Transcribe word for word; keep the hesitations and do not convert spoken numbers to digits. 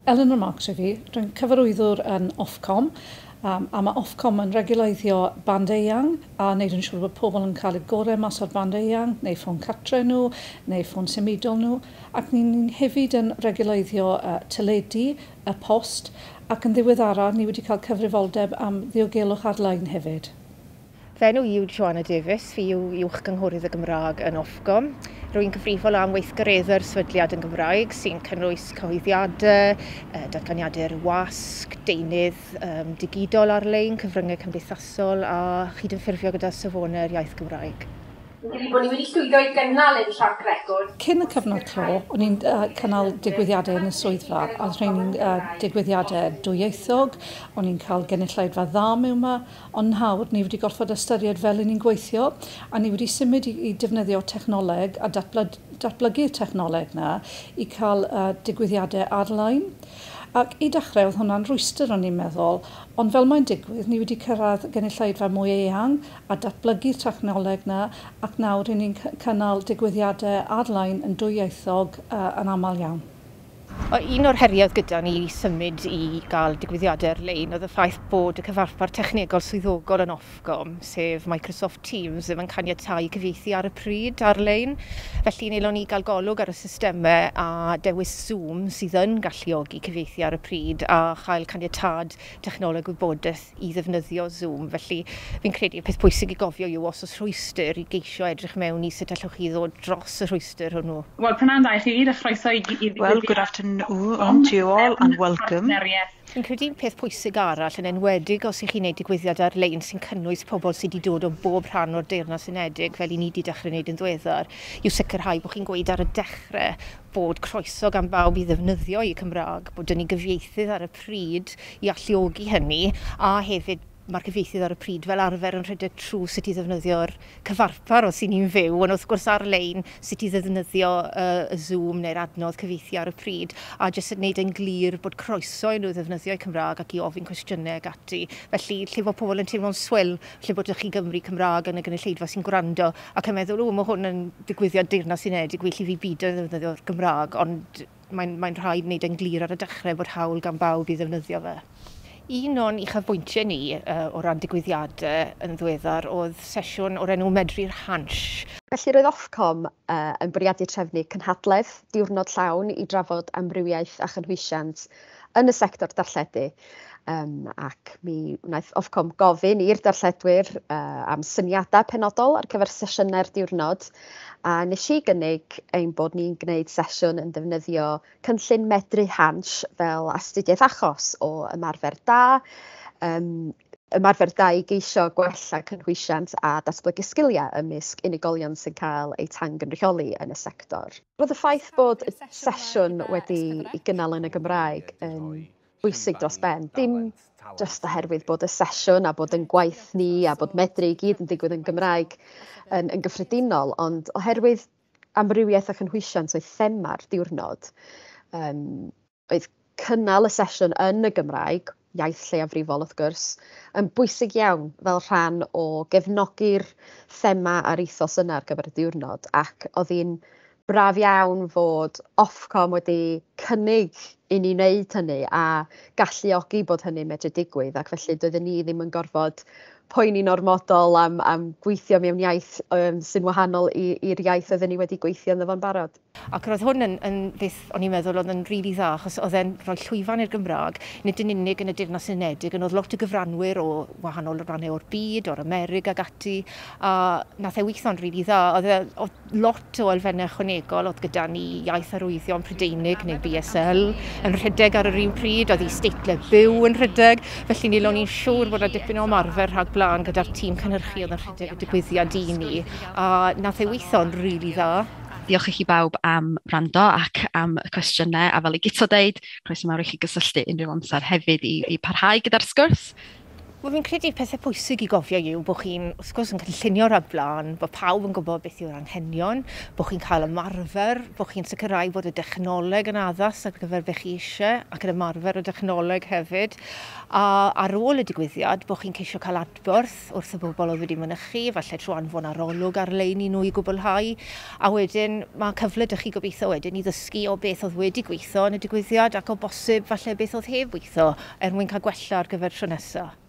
Eleanor Marks yw fi, dwi'n cyfarwyddwr yn Ofcom, um, a mae Ofcom yn reguleiddio band eang a wneud yn siŵr bod pobl yn cael eu gorau mas o'r band eang, neu ffôn cartre nhw, neu ffôn symudol nhw, ac ni'n hefyd yn reguleiddio uh, teledu, y post, ac yn ddiweddara ni wedi cael cyfrifoldeb am ddiogelwch ar-lein hefyd. Fy enw i yw Joanna Davies, fi yw uwch gynghorydd y Gymraeg yn Ofcom. Rwy'n gyfrifol am weithgareddau'r sefydliad yn Gymraeg sy'n cynnwys cyhoeddiadau, datganiadau'r wasg, deunydd um, digidol ar-lein, cyfryngau cymdeithasol a chydymffurfio gyda safonau'r iaith Gymraeg. Fi'n credu bod ni wedi llwyddo i gynnal ein trac record. Cyn y cyfnod clo, o'n i'n uh, cynnal digwyddiadau yn y swyddfa, a oedd rheini'n uh, digwyddiadau dwyieithog, o'n i'n cael gynulleidfa dda mewn yma, ond nawr ni wedi gorfod ystyried fel 'y ni'n gweithio, a ni wedi symud i, i defnyddio technoleg a datblyg, datblygu'r technoleg na i cael uh, digwyddiadau ar-lein. Ac i dechrau oedd hwnna'n rwystr o'n i'n meddwl, ond fel mae'n digwydd, ni wedi cyrraedd gynulleidfa mwy eang a datblygu'r technoleg na, ac nawr ry'n ni'n cynnal digwyddiadau ar-lein yn dwyieithog uh, yn aml iawn. Un o'r heriau gyda ni i symud i gael digwyddiadau ar-lein oedd y ffaith bod y cyfarpar technegol swyddogol yn Ofcom, sef Microsoft Teams, ddim yn caniatáu cyfieithu ar y pryd ar-lein. Felly wnaethon ni gael golwg ar y systemau a dewis Zoom sydd yn galluogi cyfieithu ar y pryd a chael caniatâd technoleg gwybodaeth i ddefnyddio Zoom. Felly fi'n credu y peth pwysig i gofio yw os oes rhwystr i geisio edrych mewn i sut allwch chi ddod dros y rhwystr hwnnw. Wel, prynawn da i chi gyd, a chroeso i, i Well, good afternoon to you all and welcome. Fi'n credu peth pwysig arall yn enwedig os ych chi'n gwneud digwyddiad ar-lein sy'n cynnwys pobl sydd wedi dod o bob rhan o'r Deyrnas Unedig, fel i ni wedi dechrau wneud yn ddiweddar, yw sicrhau bod chi'n gweud ar y dechrau bod croeso gan bawb i ddefnyddio eu Cymraeg, bod 'da ni gyfieithydd ar y pryd i alluogi hynny, a hefyd mae'r cyfieithydd ar y pryd fel arfer yn rhedeg trwy sut i ddefnyddio'r cyfarpar os y'n ni'n fyw, ond wrth gwrs ar-lein sut i ddefnyddio uh, y Zoom neu'r adnodd cyfieithu ar y pryd, a jyst yn gwneud yn glir bod croeso i nhw ddefnyddio eu Cymraeg ac i ofyn cwestiynau ac ati. Felly, lle bod pobl yn teimlo'n swil, lle bod chi Gymru Cymraeg yn y gynulleidfa sy'n gwrando ac yn meddwl, o, mae hwn yn digwyddiad Deyrnas Unedig, well i fi beidio ddefnyddio'r Gymraeg, ond mae'n mae rhaid wneud yn glir ar y dechrau bod hawl gan bawb i ddefnyddio fe. Un o'n uchafbwyntiau ni uh, o ran digwyddiadau yn ddiweddar oedd sesiwn o'r enw Medru'r Hansh. Felly roedd Ofcom uh, yn bwriadu trefnu cynhadledd diwrnod llawn i drafod amrywiaeth a chynhwysiant yn y sector darlledu. Um, ac mi wnaeth Ofcom gofyn i'r darlledwyr uh, am syniadau penodol ar gyfer sesiynau'r diwrnod. A nes i gynnig ein bod ni'n gwneud sesiwn yn defnyddio cynllun Medru Hansh fel astudiaeth achos o ymarfer da, um, ymarfer da i geisio gwella cynhwysiant a datblygu sgiliau ymysg unigolion sy'n cael eu tangynrychioli yn y sector. Roedd y ffaith bod y sesiwn wedi ei gynnal yn y Gymraeg yn bwysig dros ben. Dim jyst oherwydd bod y sesiwn a bod yn gwaith ni a bod medru i gyd yn digwydd yn Gymraeg yn, yn gyffredinol, ond oherwydd amrywiaeth a chynhwysiant oedd thema'r diwrnod, um, oedd cynnal y sesiwn yn y Gymraeg, iaith lleiafrifol wrth gwrs, yn bwysig iawn fel rhan o gefnogi'r thema a'r ethos yna ar gyfer y diwrnod, ac oedd hi'n braf iawn fod Ofcom wedi cynnig i ni wneud hynny a galluogi bod hynny'n medru digwydd, ac felly doedden ni ddim yn gorfod poeni'n ormodol am, am gweithio mewn iaith um, sy'n wahanol i'r iaith oedden ni wedi gweithio ynddo fo'n barod. Ac roedd hwn yn, yn beth o'n i'n meddwl oedd yn rili really dda, achos oedd e'n rhoi llwyfan i'r Gymraeg, nid yn unig yn y Deyrnas Unedig, ond oedd lot o gyfranwyr o wahanol rannau o'r byd, o'r Amerig ac ati, a nath e weithio'n rili really dda. Oedd, e, oedd lot o elfennau ychwanegol, oedd gyda ni iaith arwyddion Prydeinig neu B S L yn rhedeg ar yr un pryd, oedd isdeitlau byw yn rhedeg, felly ni o'n i'n siŵr bod 'na dipyn o ymarfer rhag blaen gyda'r tîm cynhyrchu oedd yn rhedeg y digwyddiad i ni, a nath e weithio'n rili dda. Diolch i chi bawb am wrando ac am y cwestiynau, a fel i Guto deud, croeso mawr i chi gysylltu unrhyw amser hefyd i, i parhau gyda'r sgwrs. Wel, fi'n credu pethau pwysig i gofio yw bod chi'n, wrth gwrs, yn cynllunio rhag blaen, bod pawb yn gwybod beth yw'r anghenion, bod chi'n cael ymarfer, bod chi'n sicrhau bod y dechnoleg yn addas ar gyfer beth chi eisiau, ac yn ymarfer y dechnoleg hefyd. A ar ôl y digwyddiad, bod chi'n ceisio cael adborth wrth y bobl oedd wedi mynychu, falle trwy anfon arolwg ar-lein i nhw i gwblhau. A wedyn, mae cyfle 'da chi gobeithio wedyn i ddysgu o beth oedd wedi gweithio yn y digwyddiad ac o bosib falle beth oedd heb weithio er mwyn cael gwella ar gyfer tro nesaf.